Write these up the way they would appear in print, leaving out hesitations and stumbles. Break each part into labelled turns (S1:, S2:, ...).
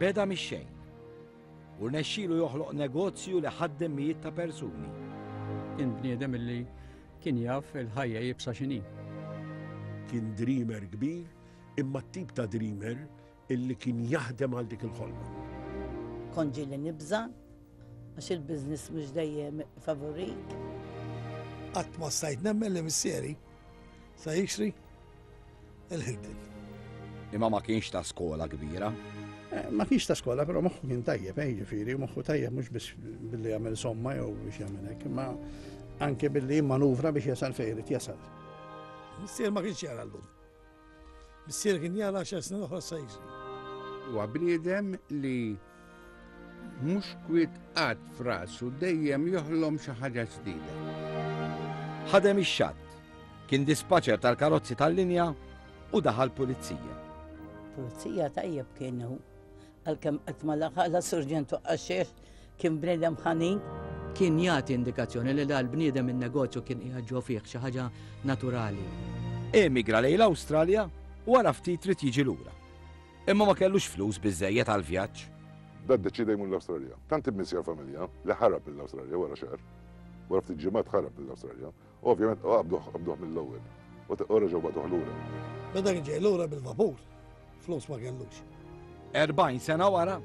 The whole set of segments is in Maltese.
S1: Beda mix-xejn u rnexxielu joħloq negozju li ħaddem mijiet ta' persuni.
S2: Kien bniedem illi kien jaf il-ħajja iebsa x'inhi.
S3: Kien dreamer kbir, imma t-tip ta' dreamer illi kien jaħdem għal dik il-ħolma.
S4: Kont ġieli nibża' għax il-business mhux dejjem favorik.
S5: Qatt ma stajt nemmen li missieri sa jixtri il-Hilton.
S1: Imma ma kienx ta' skola kbira.
S5: Eh, ma kienx ta' skola, però moħħu kien tajjeb, eh, jiġifieri, moħħu tajjeb mhux biss billi jagħmel somma jew biex jagħmel hekk, imma anke billi jimmanuvra biex jasal fejn irid jasal. Missier ma kienx jara llum. Missier kien jara għaxar snin oħra sa jiġri.
S6: Huwa bniedem li mhux kwiet qatt f'rasu dejjem joħlom xi ħaġa ġdida.
S1: Ħadem ix-xatt, kien dispaċer tal-karozzi tal-linja u daħal pulizija.
S4: Pulizija tajjeb kienu, għalkemm qatt ma laħaq la surġent u għaxiex kien bniedem ħanin.
S2: Kien jagħti indikazzjoni li dal-bniedem in-negozju kien qiegħed ġo fih xi ħaġa naturali.
S1: Emigra lejn l-Awstralja u wara ftit ried jiġi lura. Imma ma kellux flus biżżejjed għall-vjaġġ.
S7: Da ddeċieda jmur l-Awstralja. Tant immissja l-familja li ħarab mill-Awstralja wara xahar. Wara ftit ġimgħat ħarab mill-Awstralja. U ovvjament qabduh qabduh mill-ewwel. U reġgħu bagħtuh lura.
S5: Meta kien ġej lura bil-vapur, flus ma kellux.
S1: 40 sena wara,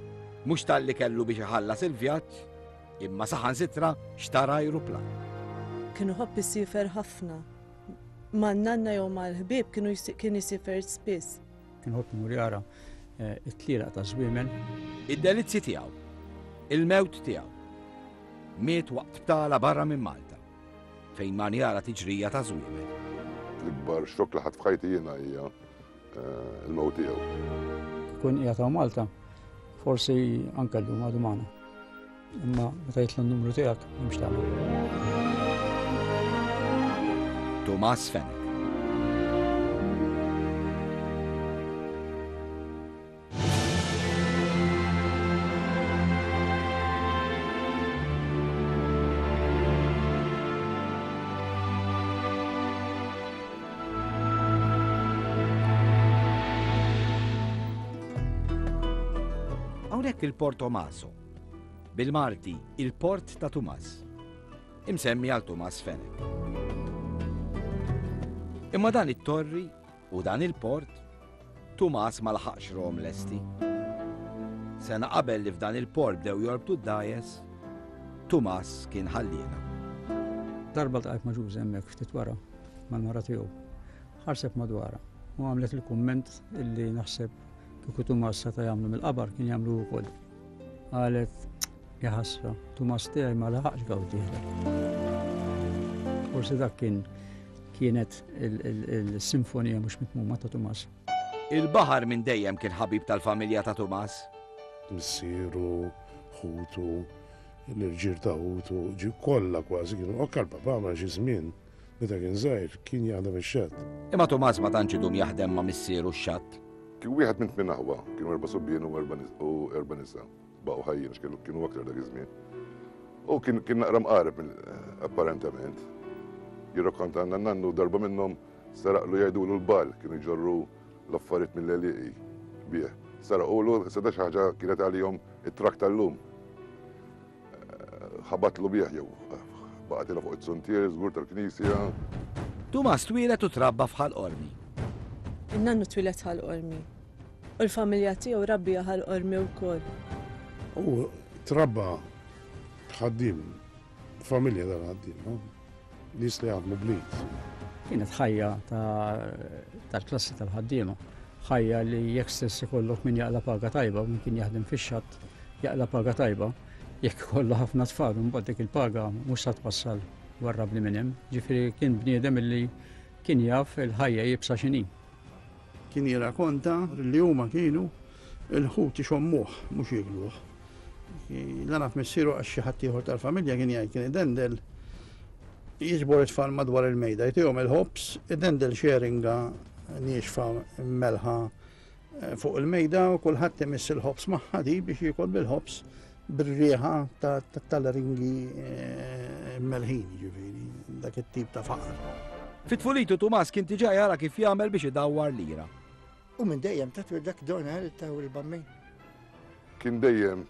S1: mhux talli kellu biex iħallas il-vjaġġ, imma saħansitra xtara ajruplan.
S8: Kien iħobb isiefer ħafna. Man-nanna jew mal-ħbieb kienu kien isiefer spiss.
S2: Kien iħobb imur jara eh, it-tlielaq ta' żwiemel.
S1: Id-delizzi tiegħu, il-mewt tiegħu. Miet waqt btala barra minn Malta, fejn man jara tiġrija ta' żwiemel.
S7: L-ikbar xokk li ħadd f'ħajti jiena hija eh, il-mewt tiegħu.
S2: Kun qiegħed hawn Malta, forsi anke llum għadu magħna. Imma meta jitla' n-numru tiegħek m'hemmx tagħmel.
S1: Tumas Fenech. Hawnhekk il-Portomaso Bil-Malti, il-Port ta' Tumas. Imsemmi għal Tumas Fenech. Imma dan it-torri u dan il-port, Tumas ma laħaqx rom lesti. Sena qabel li f'dan il-port bdew jorbtu d-dajes, Tumas kien ħalliena.
S2: Darba ltqajt ma' Ġuże hemmhekk ftit wara mal-mara tiegħu. Ħarset madwarha u għamlet il-kumment illi naħseb kieku Tumas seta' jagħmlu mill-qabar kien jagħmlu wkoll. Qalet, ja ħasra, Tumas tiegħi ma laħaqx gawdih. Forsi dak kien kienet il-sinfonija mhux mitmuma ta' Tumas.
S1: Il-baħar minn dejjem kien ħabib tal-familja ta' Tumas.
S3: Missieru, ħutu, l-irġiel ta' ħutu, ġi kollha kważi kienu anke l-papà ma xi żmien meta kien żgħir kien jaħdem ix-xatt.
S1: Imma Tumas ma tantx idum jaħdem ma' missieru x-xatt.
S7: Kien wieħed minn tmien aħwa, kienu erba' subien u erba' nisa. Baqgħu ħajjin għax kienu aktar dak iż-żmien. U kien kien naqra mqareb apparentament. Jirrakkontalna n-nannu darba minnhom seraqlu jgħidulu l-bal, kienu jġorru l-affarijiet mill-għelieqi bih. Seraqulu, seta' xi ħaġa kienet għalihom it-trakk tal-lum. Ħabatlu bih jew baqgħetilha fuq it-suntier żgur tal-knisja.
S1: Tumas twieled u trabba f'Ħal Qormi.
S8: In-nannu twieled Ħal Qormi. U l-familja tiegħu rabbija Ħal Qormi wkoll.
S3: Hu trabba ħaddiem, familja tal-ħaddiema, nies li jaħdmu bl-id.
S2: Kienet ħajja tal-klassi tal-ħaddiema. Ħajja li jekk stess ikollok min jaqla' paga tajba, min kien jaħdem fix-xatt jaqla' paga tajba, jekk ikollu ħafna tfal imbagħad dik il-paga mhux sa twassal warrabni minn hemm. Ġifieri kien bniedem illi kien jaf il-ħajja iebsa x'inhi.
S5: Kien jirrakonta li huma kienu l-ħut ixommuh mhux jiekluh. La naf missieru għax xi ħadd ieħor tal-familja kien jgħid kien idendel jiġbor it-tfal madwar il-mejda, jtihom il-ħobż, idendel xi eringa niexfa mmelħa eh, fuq il-mejda u kulħadd imiss il-ħobż magħha di biex jiekol bil-ħobż bir-riħa tal-ringi eh, melħin, ġifieri, dak it-tip ta' faqar.
S1: Fit-tfulitu Tumas kien diġà jara kif jagħmel biex idawwar lira.
S9: U minn dejjem ta' dak Donald ta' il-bammin.
S7: Kien dejjem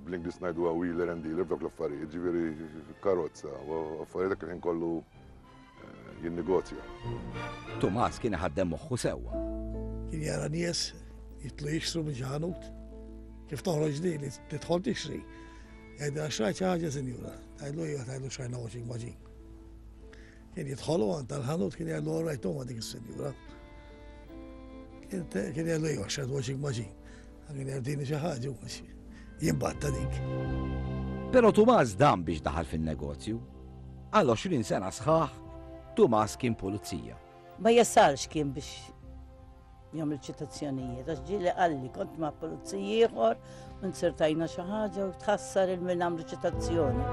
S7: bl-Ingliż ngħiduha wheeler and dealer f'dawk l-affarijiet, ġifieri karozza u affarijiet dak il-ħin kollu eh, jinnegozja.
S1: Tumas kien iħaddem moħħu sewwa.
S9: Kien jara nies jitlu jixtru minn xi ħanut. Kif toħroġ din li tidħol tixtri. Jgħidilha xrajt xi ħaġa sinjura. Tgħidlu iva tgħidlu xrajna washing machine. Kien jidħolu għand tal-ħanut kien jgħidlu all right huma dik is-sinjura. Kien jgħidlu iva xrajt washing machine. Kien jgħidini xi ħaġa jimbatta dik.
S1: Però Tumas dam biex daħal fin-negozju. Għal 20 sena sħaħ, Tumas kien pulizija.
S4: Ma jasalx kien biex jagħmel ċitazzjonijiet, għax ġieli qalli kont ma' pulizija ieħor u nzertajna xi ħaġa u tħassar il min għamlu ċitazzjoni.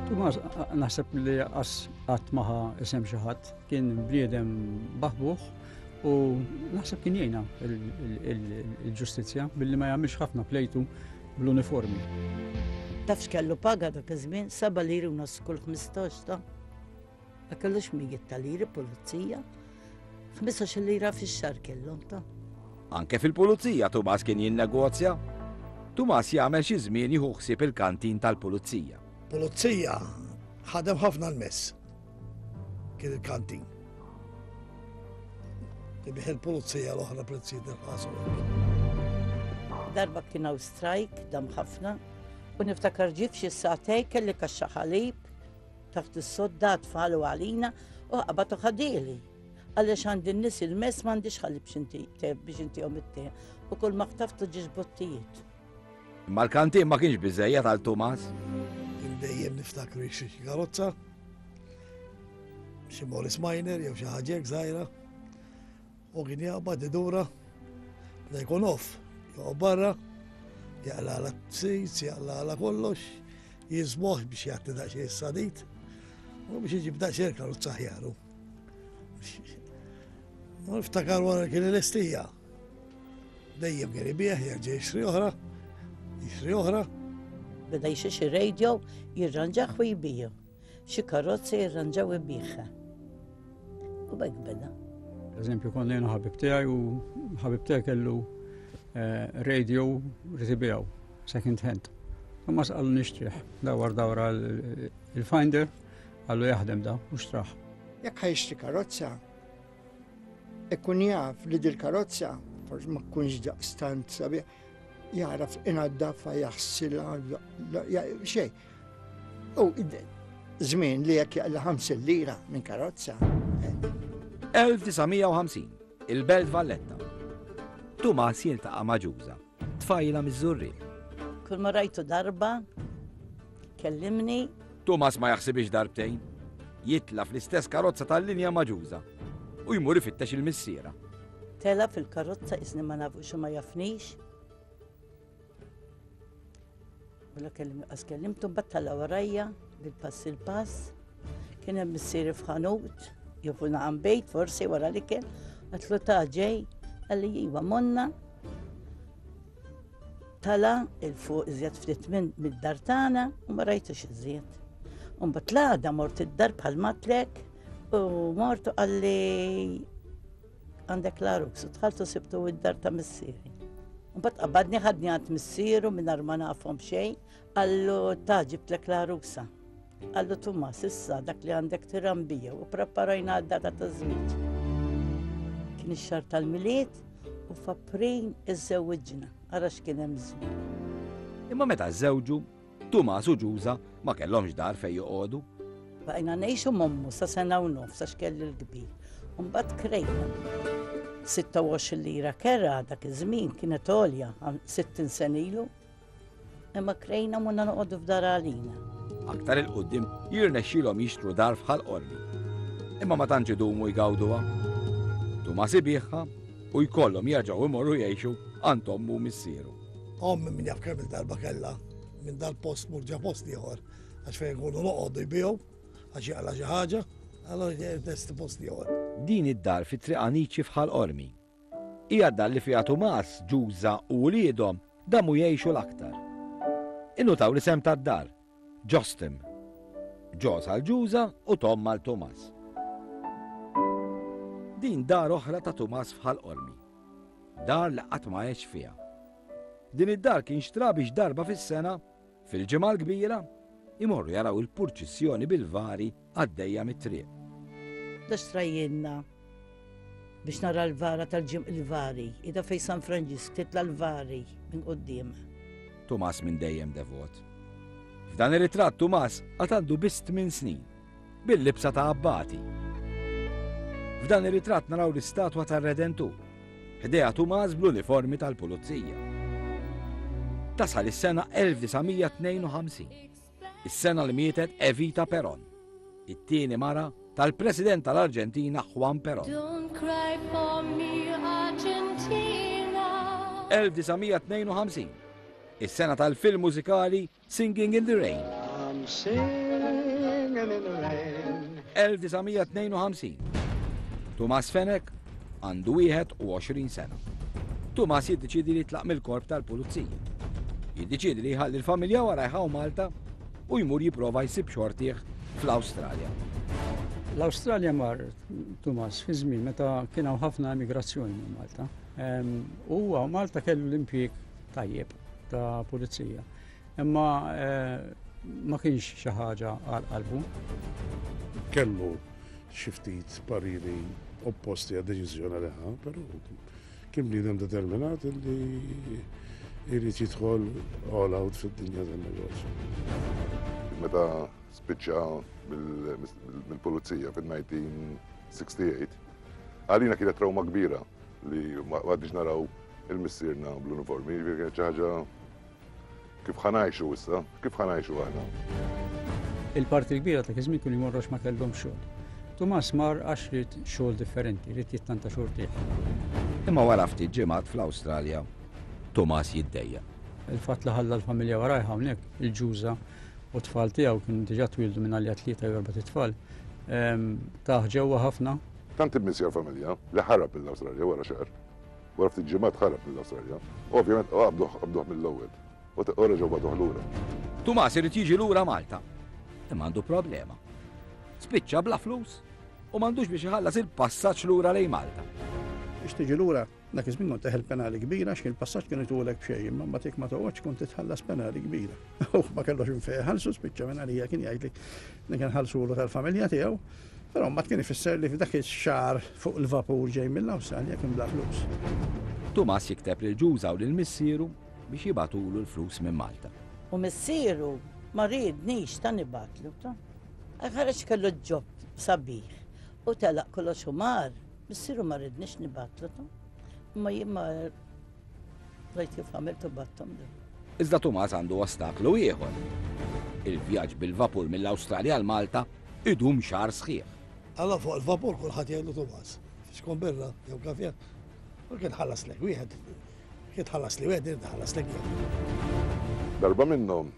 S2: Tumas naħseb li qas qatt maħa isem xi ħadd kien bniedem baħbuħ u naħseb kien jgħinha il-ġustizzja billi ma jagħmilx ħafna plejtu bl-uniformi.
S4: Taf x'kellu paga dak iż-żmien? Seba' liri u nofs kull 15 ta' Ma kellux mijiet ta' liri pulizija. 15 lira fix-xahar kellhom ta'.
S1: Anke fil-pulizija Tumas kien jinnegozja. Tumas jagħmel xi żmien jieħu ħsieb il-kantin tal-pulizija.
S9: Pulizija ħadem ħafna l-mess. Kien il-kantin. Tibih il-pulizija l-oħra prezzijiet irħas u hekk.
S4: Darba kien hawn strajk dam ħafna u niftakar ġie f'xi sagħtej kelli kaxxa ħalib Taħt is-sodda tfal u għalina u qabad u ħadieli. Għaliex għandi n-nies il-mess m'għandix ħalib biex intihom it-te u kull ma ħtaftu ġiex bottijiet.
S1: Imma l-kantin ma kienx biżejjed għal Tumas.
S9: Kien dejjem niftakru jixtri xi karozza, xi Morris Minor jew xi ħaġa hekk żgħira. U kien jaqbad idura, meta jkun off, joqgħod barra, jaqla t-seats, jaqla kollox, jiżmoħ biex jagħti daqsxejn is-sadid, u biex iġib daqsxejn karozza ħjaru. U niftakar wara kien il-estija. Dejjem kien ibieħ, jerġa' jixtri oħra, jixtri oħra.
S4: Beda jixtri xi radio, jirranġaħ u jbiju. Xi karozzi jirranġaw ibiħha. U b'hekk beda.
S2: Eżempju, konna jena ħabib tiegħi u ħabib tiegħi kellu eh, radio rrid ibiegħu, second hand. Imma sqalu nixtrih, dawar dawra il-finder, għallu jaħdem da, u xtraħ.
S10: Jekk ħajxtri karozza, ikun jaf li dil-karozza, forsi ma tkunx daqstant sabiħ, jaraf inaddafha jaħsilha xejn. U żmien li jekk jaqla 50 lira minn karozza.
S1: 1950, eh. il-Belt Valletta. Tumas jiltaqa' ma' Ġuża, tfajla miż-Żurrieq.
S4: Kull ma rajtu darba, kellimni.
S1: Tumas ma jaħsibix darbtejn. Jitla fl-istess karozza tal-linja ma' Ġuża u jmur ifittex il-missiera.
S4: Tela fil-karozza isni ma nafux u ma jafnix. Wala kellim qas kellimtu mbagħad tala warajja bil-pass il-pass. Kien hemm missieri f'ħanut, jew naqam bejt forsi wara l-ikel, għatlu ta' ġej, qalli iva monna. Tala il-fuq iżjed ftit minn mid-dar tagħna u ma rajtux iżjed. Mbagħad l-għada mort id-dar bħal matlek u mort u qalli Għandek l-għarus u dħalt u sibtu id-dar ta' missieri. Mbagħad qabadni ħadni għand missieru mingħajr ma nafhom xejn, qallu ta' ġibtlek l-għarusa. Qallu Tumas issa dak li għandek tirambija u preparajna għad-data ta' żwieġ. Kien ix-xahar tal-Milied u f'April iżżewwiġna, ara x'kien hemm żmien.
S1: Imma meta żżewġu, Tumas u Ġuża ma kellhomx dar fejn joqogħdu.
S4: Baqajna ngħixu m'ommu sa sena u nofs għax kelli l-kbir. U mbagħad krejna. 26 lira kera dak iż-żmien kienet għolja 60 sena ilu. Imma krejna monna noqogħdu f'dar għalina.
S1: Aktar 'il quddiem jirnexxielhom jixtru dar f'Ħal Qormi. Imma ma tantx idumu jgawduha. Tumas ibigħha u jkollhom jerġgħu jmorru jgħixu għand ommu u missieru.
S9: Ommi min jaf kemm il-darba kellha minn dal-post mur ġa post ieħor għax fejn nkunu noqogħdu jbigħu għax jaqla' xi ħaġa, allura testi post ieħor.
S1: Din id-dar fi Triq Anici f'Ħal Qormi. Hija d-dar li fiha Tumas, Ġuża u uliedhom damu jgħixu l-aktar. Innutaw l-isem tad-dar, Ġostim. Ġos għal Ġuża u Tom għal Tumas. Din dar oħra ta' Tumas f'Ħal Qormi. Dar li qatt ma għex fiha. Din id-dar kien xtra biex darba fis-sena, fil-Ġimgħa l-Kbira, imorru jaraw il-purċissjoni bil-vari għaddejja mit-triq.
S4: Da xtrajjielna biex nara l-vara tal-ġim il-vari, ida fej San Franġisk titla l-vari minn quddiem.
S1: Tumas minn dejjem devot. F'dan ir-ritratt Tumas għad għandu biss 8 snin, bil-libsa ta' abbati. F'dan ir-ritratt naraw l-istatwa tar-Redentur, ħdejha Tumas bl-uniformi tal-pulizija. Tasal is-sena 1952, is-sena li mietet Evita Peron, it-tieni mara tal-President tal-Arġentina Juan Peron.
S11: Don't cry for me, Argentina.
S1: 1952, is-sena tal-film mużikali Singing in the Rain.
S12: I'm singing in the rain.
S1: 1952. Tumas Fenech għandu 21 sena. Tumas jiddeċiedi li jitlaq mill-korp tal-pulizija. Jiddeċiedi li jħalli l-familja wara jħaw Malta u jmur jipprova jsib xortih fl-Awstralja.
S2: L-Awstralja mar Tumas fi żmien meta kien hawn ħafna emigrazzjoni minn Malta. U huwa Malta kellu l-impjieg tajjeb ta' pulizija. Imma eh, ma kienx xi ħaġa għal qalbu.
S3: Kellu xi ftit pariri opposti għad-deċiżjoni li ħa, però kien bniedem determinat li jrid jidħol all out fid-dinja tan-negozju.
S7: Meta spiċċa mill-pulizija fil-1968, għalina kienet trauma kbira li ma għadniex naraw il-missierna bl-uniformi, jiġifieri kienet xi ħaġa kif ħa ngħixu issa, kif ħa ngħixu aħna.
S2: Il-parti l-kbira ta' iż-żmien kienu jmorru għax ma kellhomx xogħol. Tumas mar għax ried xogħol differenti, ried jittanta xortih.
S1: Imma wara ftit ġimgħat fl-Awstralja, Tumas jiddejjaq.
S2: Il-fatt li ħalla l-familja warajh hawnhekk, il-ġuża u t-tfal tiegħu kienu diġà twieldu minn għalija tlieta jew erbat itfal, tah ġewwa ħafna.
S7: Tant immissja l-familja li ħarab mill-Awstralja wara xahar. Wara ftit ġimgħat ħarab mill-Awstralja. U ovvjament qabduh qabduh mill-ewwel. U reġgħu bagħtuh lura.
S1: Tumas irid jiġi lura Malta. Imma għandu problema. Spiċċa bla flus u m'għandux biex iħallas il-passaġġ lura lejn Malta.
S5: Biex tiġi lura, dak iż-żmien kont teħel penali kbira għax il-passaġġ kienu jtulek b'xejn, imma mbagħad jekk ma toqgħodx kont titħallas penali kbira. U ma kellux minn fejn iħallsu, spiċċa minn għalija kien jgħidli li kien ħallsulu tal-familja tiegħu. Però mbagħad kien ifisser li f'dak ix-xahar fuq il-vapur ġej mill-Awstralja kien bla flus.
S1: Tumas jikteb lil Ġuża u lil missieru biex jibagħtulu l-flus minn Malta.
S4: U missieru ma riednix ta' nibgħatlu ta'. Ħareġ kellu ġob sabiħ u telaq kollox u mar, missieru ma riednix nibgħatlu ta'. Imma jien ma rajt kif għamilt u bgħatthomlu.
S1: Iżda Tumas għandu ostaklu ieħor. Il-vjaġġ bil-vapur mill-Awstralja għal Malta Idum xahar sħiħ.
S9: Alla fuq il-vapur kulħadd jgħidlu Tumas. Xkun birra jew kafè. U kien ħallaslek wieħed. Kien tħallasli wieħed, irid ħallaslek jien.
S7: Darba minnhom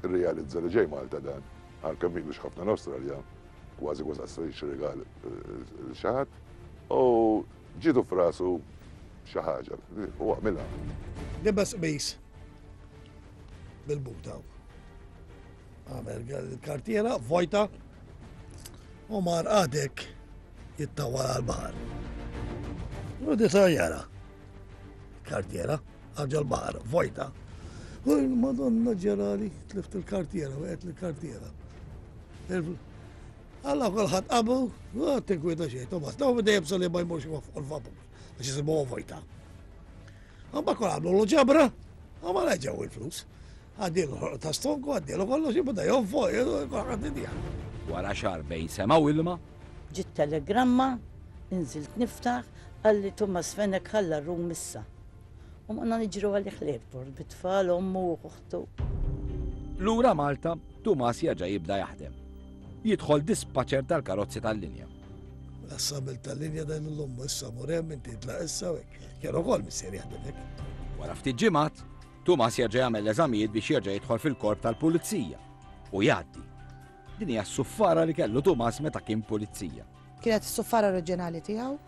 S7: irrealizza li ġej Malta dan, għalkemm ilux ħafna l-Awstralja, kważi kważi qas jixtri rigal lil xi ħadd, u ġietu f'rasu xi ħaġa u għamilha.
S9: Libes qmis bil-buta. Għamel il-kartiera vojta u mar għadek jittawal għal-bahar. U disa jara. Kartiera, għagġa l-bahar, vojta. U l-Madonna ġerali, tlift il-kartiera, u għet il-kartiera. Alla kolħat qabu, u tinkwita xejn, Tomas, daw dejjem sali ma jmurx fuq il-vapur, għax jisibu vojta. Għamba kol għamlu l-ġabra, għamma ġew il-flus. Għaddielu ħorq ta' stonku, għaddielu kollox, jibda jonfoq, kulħadd idija.
S1: Wara xahar bejn sema u ilma.
S4: Ġiet telegramma, inżilt niftaħ, qalli Tumas Fenech ħalla r-rum issa. U morna niġru għalih l-airport bit-tfal, ommu u oħtu.
S1: Lura Malta, Tumas jerġa' jibda jaħdem. Jidħol dispatcher tal-karozzi tal-linja.
S9: L-assabil tal-linja dan l-ommu issa mur hemm inti tlaq issa u hekk. Kien ukoll missier jaħdem hekk.
S1: Wara ftit ġimgħat, Tumas jerġa' jagħmel l-eżamijiet biex jerġa' jidħol fil-korp tal-pulizija u jgħaddi. Din hija s-suffara li kellu Tumas meta kien pulizija.
S13: Kienet is-suffara oriġinali tiegħu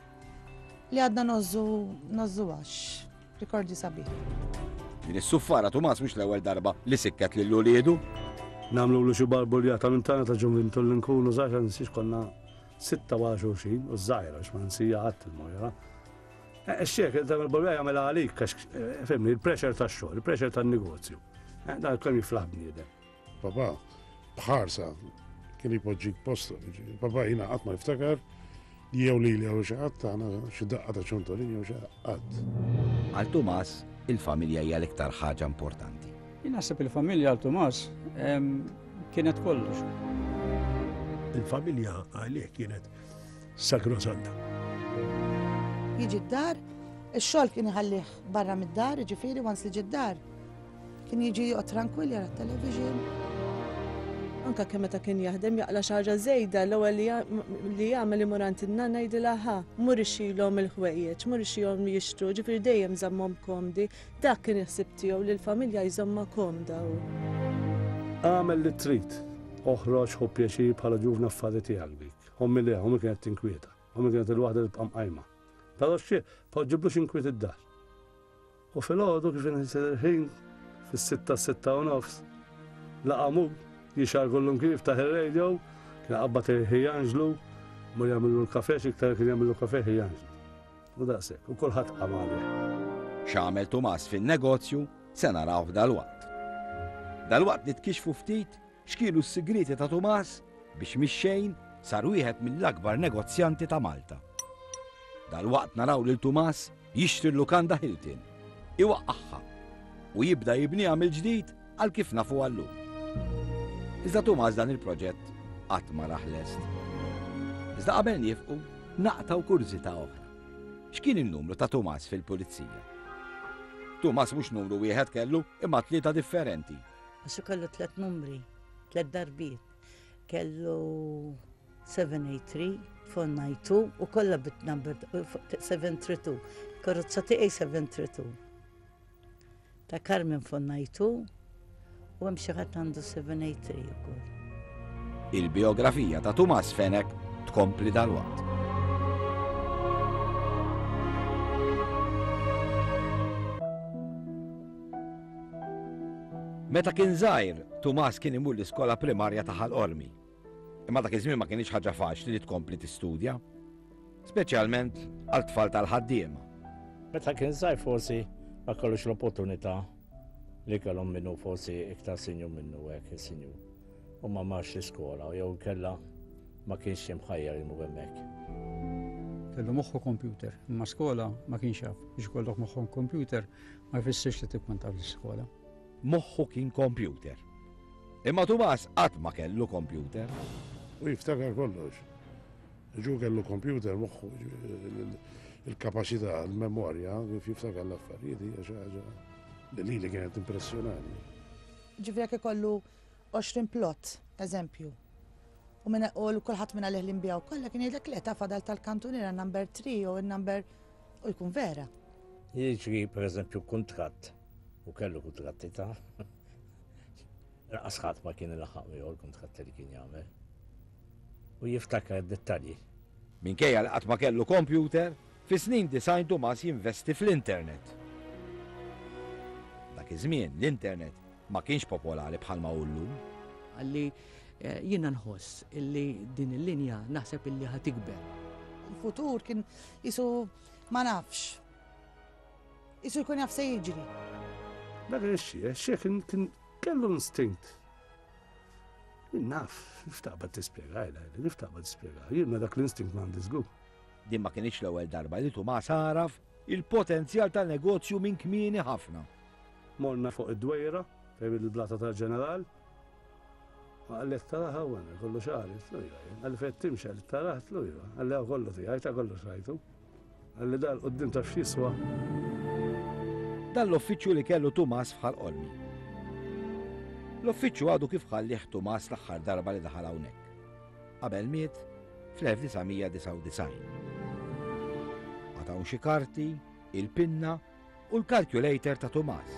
S13: li għadna ngħożżu ngħożżu għax rikordju sabiħ.
S1: Din is-suffara Tumas mhux l-ewwel darba li sikket lil uliedu.
S14: Nagħmlulu xi barbuljata minn tagħna ta' ġuvintu li nkunu żgħar nsiex konna sitta wara xulxin u żgħira għax ma nsija qatt il-Mojra. Ix-xiħ tagħmel balbuljata jagħmilha għalik għax fimni, il-pressure tax-xogħol, il-pressure tan-negozju. Dan kemm jiflaħ bniedem.
S3: Papà, b'ħarsa, kien jpoġġik postu. Papà jiena qatt ma niftakar jew lili jew xi ħadd tagħna xi daqqa ta' ċontolin jew xi qatt.
S1: Għal Tumas, il-familja hija l-iktar ħaġa importanti.
S2: Jien naħseb il-familja għal Tumas kienet kollox.
S15: Il-familja għalih kienet sagrosanta.
S13: Jiġi d-dar, ix-xogħol kien iħallih barra mid-dar, jiġifieri once li ġie d-dar, Kien jiġi joqgħod trankwill jara t-television.
S8: Anke kemm meta kien jaħdem jaqla' xi ħaġa żejda l-ewwel li jagħmel imur għand in-nanna jgħidilha ħa, mur ixxilhom il-ħwejjeġ, mur ixxihom jixtru, ġifieri dejjem żammhom komdi. Dak kien il-ħsieb tiegħu li l-familja jżommha komda hu.
S14: Agħmel li trid, oħroġ, ħu pjaċir bħala ġuvni affari tiegħek dik. Ommi le, ommi kienet tinkwieta. Ommi kienet il-waħda li tibqa' mqajma. Però xi, poġġiblux inkwiet id-dar. U filgħodu kif inħisel il-ħin, fis-sitta 6:30, laqa' mur, jixgħar kullum kif ftaħ ir-radio, kien iqabbad il-Ħi Anġlu, mur jagħmillu l-kafè, x'iktar kien jagħmillu kafè Ħi Anġlu. U daqshekk, u kulħadd qam għalih.
S1: X'għamel Tumas fin-negozju se narawh dalwaqt. Dalwaqt nitkixxfu ftit X'kienu s-sigrieti ta' Tumas biex mix-xejn sar wieħed mill-akbar negozjanti ta' Malta? Dalwaqt naraw lil Tumas jixtri l-lukanda Hilton, iwaqqagħha u jibda jibniha mill-ġdid għal kif nafuha llum. Iżda Tumas dan il-proġett qatt ma rah lest. Iżda qabel niefqu, naqtgħu kurżità oħra. X'kien in-numru ta' Tumas fil-pulizija? Tumas mhux numru wieħed kellu imma tlieta differenti.
S4: Għax kellu tlet numri, tlet darbiet. Kellu 783, 492 u kollha bit-number 732. Karozza tiegħi 732. Ta' Carmen 492 u hemm xi ħadd għandu 783 ukoll.
S1: Il-bijografija ta' Tumas Fenech tkompli dalwaqt. Meta kien żgħir, Tumas kien imur l-iskola primarja ta' Ħal Qormi. Imma dak iż-żmien ma kinitx ħaġa faċli li tkompli tistudja, speċjalment għal tfal tal-ħaddiema.
S16: Meta kien żgħir forsi ma kellux l-opportunità li kellhom minnu forsi iktar sinjur minnu hekk is-sinjur. U ma marx l-iskola jew inkella ma kienx imħajjar imur hemmhekk.
S2: Kellu moħħu computer, imma skola ma kienx jaf. Biex ikollok moħħu computer ma jfissirx li tkun taf l-iskola.
S1: Moħħu kien computer. Imma Tumas qatt ma kellu computer.
S3: U jiftakar kollox. Ġu kellu computer moħħu il-kapaċità, il-memorja, kif jiftakar l-affarijiet hija xi ħaġa li lili kienet impressjonani.
S13: Ġifieri jekk ikollu 20 plot, eżempju, u minn u kulħadd minn għalih li nbiegħu kollha kien jgħidlek le ta' fadal tal-kantuniera number 3 jew in-number u jkun vera.
S16: Jiġri pereżempju kuntratt u kellu kuntratti ta' Lanqas ħadd ma kien ilaħħaq miegħu l-kuntratti li kien jagħmel. U jiftakar id-dettalji.
S1: Minkejja li qatt ma kellu kompjuter, fis-snin 90 Tumas jinvesti fl-internet. Dak iż-żmien l-internet ma kienx popolari bħalma hu llum.
S17: Qalli, Jiena nħoss illi din il-linja naħseb illi ħa tikber.
S13: Il-futur kien qisu ma nafx. Qisu jkun jaf se jiġri.
S14: Dak kien ix-xieh, ix-xieh kien kellu instinct. Jien naf, kif taqbad tispjega, kif taqbad tispjega. Jien ma dak l-instinct m'għandi żgur.
S1: Din ma kinitx l-ewwel darba li Tumas għaraf il-potenzjal ta' negozju minn kmieni ħafna.
S14: Morna fuq id-dwejra, fejn il-blata tal-ġeneral. Ma qalli qed taraha hawn, kollu xagħri, għedtlu iva jien. Qalli fejn qed timxi, qalli taraha, għedtlu iva. Qalli hawn kollu tiegħi, ta' kollox rajtu. Qalli dan 'l quddiem taf x'jiswa?
S1: Dan l-uffiċċju li kellu Tumas f'Ħal Qormi. L-uffiċċju għadu kif ħallieh Tumas l-aħħar darba li daħal hawnhekk. Qabel miet fl-1999. Għad hawn xi karti, il-pinna u l-calculator ta' Tumas.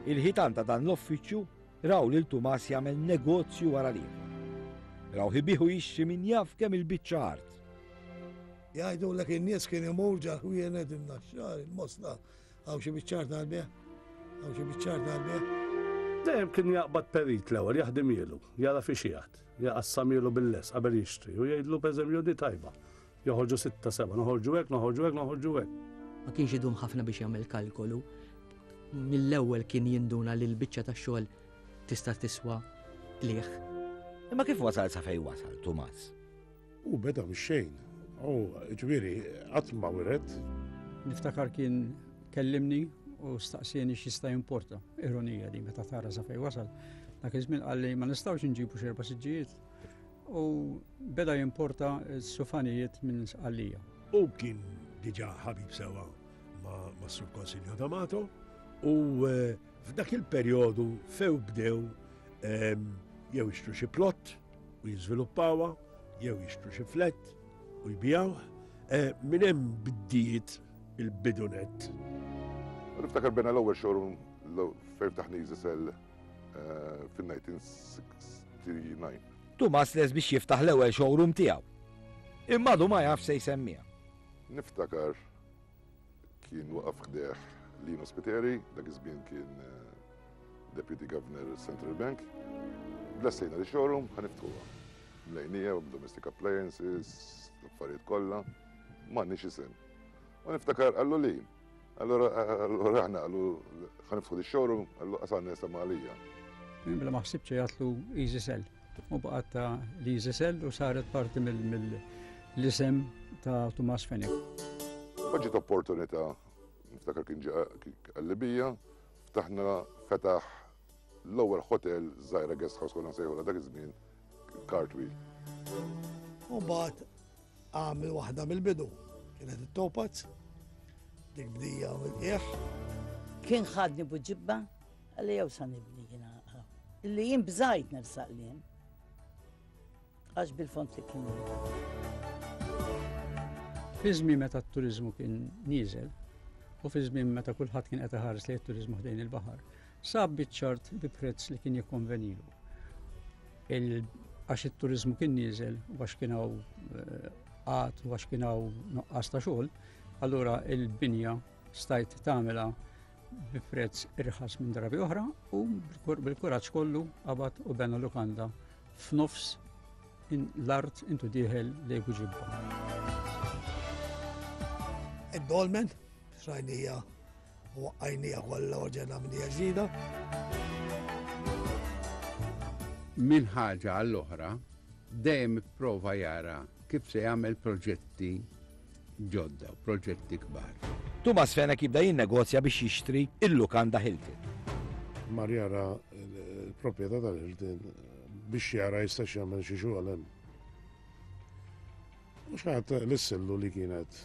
S1: Il-ħitan ta' dan l-uffiċċju raw lil Tumas jagħmel negozju wara l-ieħor. Rawh ibigħ u jixtri min jaf kemm il-biċċa art.
S9: Jgħidulek in-nies kien imur ġal-ħwienet in-Naxxar, il-Mosta, hawn xi biċċa art għall-bejgħ? Hawn xi biċċa art għall-bejgħ?
S14: Dejjem kien jaqbad perit l-ewwel jaħdimielu, jara fiex qiegħed, jaqassamielu bil-lest qabel jixtri u jgħidlu pereżempju di tajba. Joħorġu sitta seba', noħorġu hekk, noħorġu hekk, noħorġu hekk.
S17: Ma kienx idum ħafna biex jagħmel kalkolu. Mill-ewwel kien jinduna li l-biċċa tax-xogħol tista' tiswa qligħ.
S1: Imma kif wasal sa fejn wasal Tumas?
S3: Hu beda mix-xejn. U ġifieri qatt ma wiret.
S2: Niftakar kien kellimni u staqsieni x'jista' jimporta. Ironija di meta tara sa fejn wasal. Dak iż-żmien qalli ma nistgħux inġibu xi erba' siġġijiet. U beda jimporta s-sufanijiet minn Sqallija.
S15: U kien diġà ħabib sewa ma' Sur Konsilio D'Amato u eh, f'dak il-perjodu few bdew ehm, jew jixtru xi plott u jiżviluppawha, jew jixtru xi flat u jbijawh. Eh, minn hemm bdiet il-bidunet.
S7: Niftakar bena l-ewwel showroom fejn ftaħ Easy Sell eh, fin-1969.
S1: Tumas les biex jiftaħ l-ewwel showroom tiegħu. Imma għadu ma jaf se jsemmiha.
S7: Niftakar kien waqaf ħdejh Lino Spiteri, dak iż-żmien kien eh, Deputy Governor Central Bank. Lestejna li showroom ħa niftħuha. Mlejnija domestic appliances, affarijiet kollha, m'għandniex isem. U niftakar qallu li, allora allora aħna qallu ħa niftħu di showroom, qallu qasanna isem għalija.
S2: Bla ma ħsibx jgħatlu Easy Sell. U baqgħet ta' l-Easy Sell u saret parti mill-isem ta' Tumas Fenech.
S7: Ma ġiet opportunità, niftakar kien ġie għal-Libija, ftaħna fetaħ l-ewwel hotel żgħira guest house konna nsejħulha dak iż-żmien Cartwheel.
S9: U mbagħad għamel waħda mill-bidu, kienet it-Topaz, dik bdija mill-qiegħ.
S4: Kien ħadni buġibba, għalli jew sa nibni jiena. Illi jien bżajt nersaq li hemm. Għax bil-fond li kien.
S2: Fi żmien meta t-turiżmu kien nieżel u fi żmien meta kulħadd kien qed iħares lejn it-turiżmu ħdejn il-baħar, sab biċ-ċart bi prezz li kien jikkonvenilu. Għax it-turiżmu kien nieżel u għax kien hawn eh, qgħad u għax kien hawn nuqqas ta' xogħol, allura il-binja stajt tagħmilha bi prezz irħas minn drabi oħra u bil-kuraġġ kollu qabad u bena lukanda f'nofs l-art intu dieħel lejn Buġibba.
S9: Id-dolmen, xrajnija u waqqajnija kollha u ġenna minnija ġdida.
S6: Minn ħaġa għall-oħra, dejjem ipprova jara kif se jagħmel proġetti ġodda u proġetti kbar.
S1: Tumas Fenech jibda jinnegozja biex jixtri il-lukanda Hilton.
S3: Mar jara l-proprjetà tal-Hilton biex jara jistax jagħmel xi xogħol hemm. U xi ħadd lissillu li kienet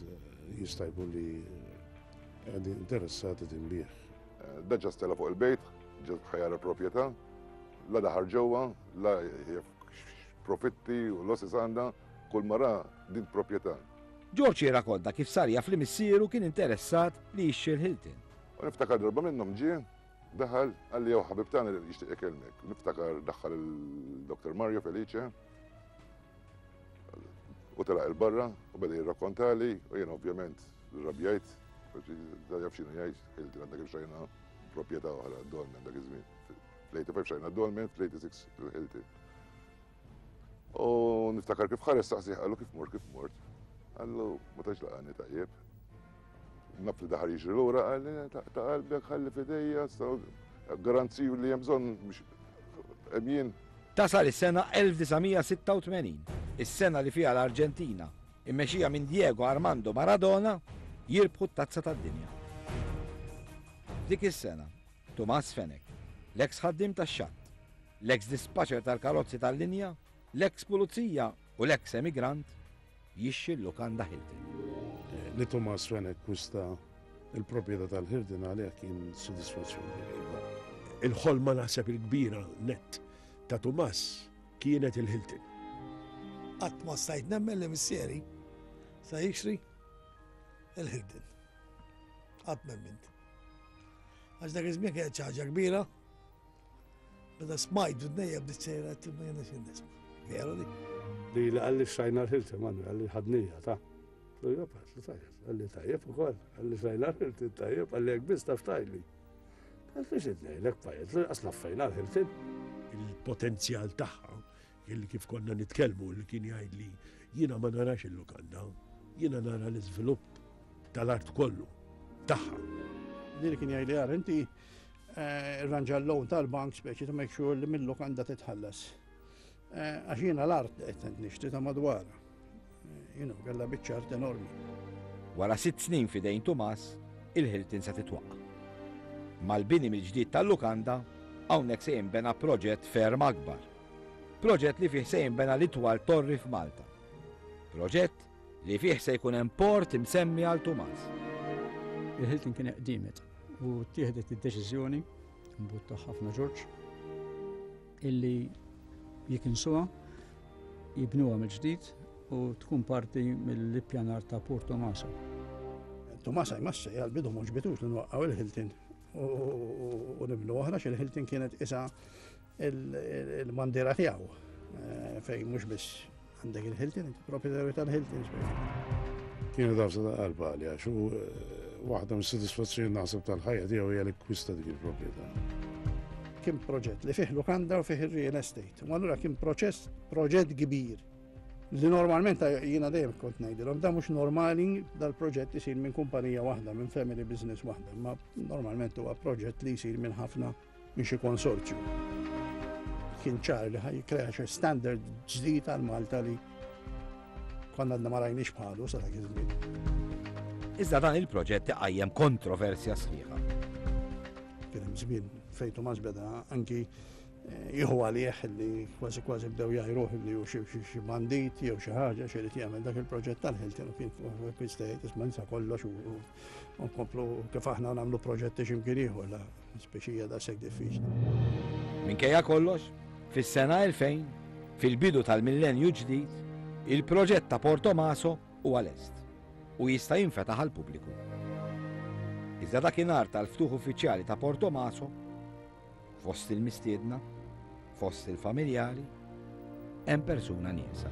S3: jista' jkun li qegħdin interessati tinbiegħ.
S7: Da ġa stella fuq il-bejt, ġa ħa jara proprjetà, la daħal ġewwa, la jaf profitti u losses għandha, kull ma ra din proprjetà.
S1: George jirrakonta kif sar jaf li missieru kien interessat li jixtri l-Hilton.
S7: U niftakar darba minnhom ġie, daħal, qalli jew ħabib tagħna li jixtieq ikellmek. Niftakar daħħal il-Dr. Mario Felice u telaq il-barra u beda jirrakkontali u jien ovvjament rrabjajt, da jaf x'inhu jgħid, Hilton għandha kif xajna proprjetà oħra Dolmen dak iż-żmien. Fl-85 xajna Dolmen, fl-86 il-Hilton. U niftakar kif ħares saqsih qallu kif mort, kif mort. Qallu ma tantx laqani tajjeb. Naf li daħal jiġri lura qalli ta' qalbek ħalli f'idejja, garanziju li hemm bżonn biex hemm jien.
S1: Tasal is-sena 1986, is-sena li fiha l-Arġentina, immexxija minn Diego Armando Maradona, jirbħu t-Tazza tad-Dinja. F'dik is-sena, Tumas Fenech, l-eks ħaddiem tax-xatt, l-eks dispatcher tal-karozzi tal-linja, l-eks pulizija u l-eks emigrant, jixxi l-lukanda Hilton.
S3: Li Tumas Fenech kwista il-proprjetà tal-Hilton għalih kien sodisfazzjon kbir.
S15: Il-ħolma naħseb il-kbira nett ta' Tumas kienet il-Hilton.
S9: Qatt ma stajt nemmen li missieri sa jixtri il-Hilton. Qatt m'emmint. Għax dak iż-żmien kienet xi ħaġa kbira. Meta smajt b'dnejja bdiet sejra ma jiena xi nisma'. Veru di.
S14: Li li qalli xtrajna l-Hilton, Manuel, qalli ħadnija ta' Lu jopat, li tajjeb, qalli tajjeb ukoll, qalli xtrajna l-Hilton tajjeb, qalli jekk biss taf tgħidli. Qalli xi ngħidlek pajjiet, li qas naffejna l-Hilton.
S15: Il-potenzjal tagħha, illi kif konna nitkellmu, li kien jgħidli jiena ma narax il-lukanda. Jiena nara l-iżvilupp tal-art kollu tagħha.
S5: Din kien jgħidli għar inti eh, rranġa l-loan tal-bank speċi ta' make sure li mill-lukanda titħallas. Eh, għax jiena l-art qed nixtri ta' madwarha. Eh, you know, kellha biċċa art enormi.
S1: Wara sitt snin f'idejn Tumas, il-Hilton se titwaqqa'. Mal-bini mill-ġdid tal-lukanda, hawnhekk se jinbena proġett ferm akbar. Proġett li fih se jinbena l-itwal torri f'Malta. Proġett li fih se jkun hemm port imsemmi għal Tumas.
S2: Il-Hilton kien qdimet u ttieħdet id-deċiżjoni mbutta ħafna Ġorġ illi jikinsuha, jibnuha mill-ġdid u tkun parti mill-ippjanar ta' Port Tomasa.
S5: Tomasa jmassa għal-bidu mhux bitux li nwaqqgħu il-Hilton u nibnu oħra xil-Hilton kienet isa il-bandiera tiegħu eh, fejn mhux biss għandek il-Hilton, inti proprjetarju tal-Hilton.
S3: Kienet għafsa ta' qalba għalija, xu eh, waħda mis-sodisfazzjoni naħseb tal-ħajja tiegħu hija li kwista dik il-proprjetà.
S5: Kien proġett li fih lukanda u fih il-real estate. U allura kien proċess, proġett kbir li normalment jiena dejjem kont ngħidilhom da mhux normali dal-proġett isir minn kumpanija waħda, minn family business waħda, ma normalment huwa proġett li jsir minn ħafna minn xi konsorzju. Kien ċar li ħaj jikkrea xi standard ġdid għal Malta li konna għadna ma rajniex bħalu sa dak iż-żmien.
S1: Iżda dan il-proġett iqajjem kontroversja sħiħa.
S5: Kien hemm żmien fejn Tumas beda anki eh, jieħu għalih li kważi kważi bdew jgħajruh li hu xi bandit jew xi ħaġa xi rid jagħmel dak il-proġett tal-Hilton u kien kwistejt isma' nsa kollox u nkomplu kif aħna nagħmlu proġetti x'imkien ieħor la speċija daqshekk diffiċli.
S1: Minkejja kollox, fis-sena 2000, fil-bidu tal-millenju ġdid, il-proġett ta' Portomaso huwa lest u jista' jinfetaħ għall-pubbliku. Iżda dakinhar tal-ftuħ uffiċjali ta' Portomaso, fost il-mistiedna, fost il-familjari, hemm persuna nieqsa.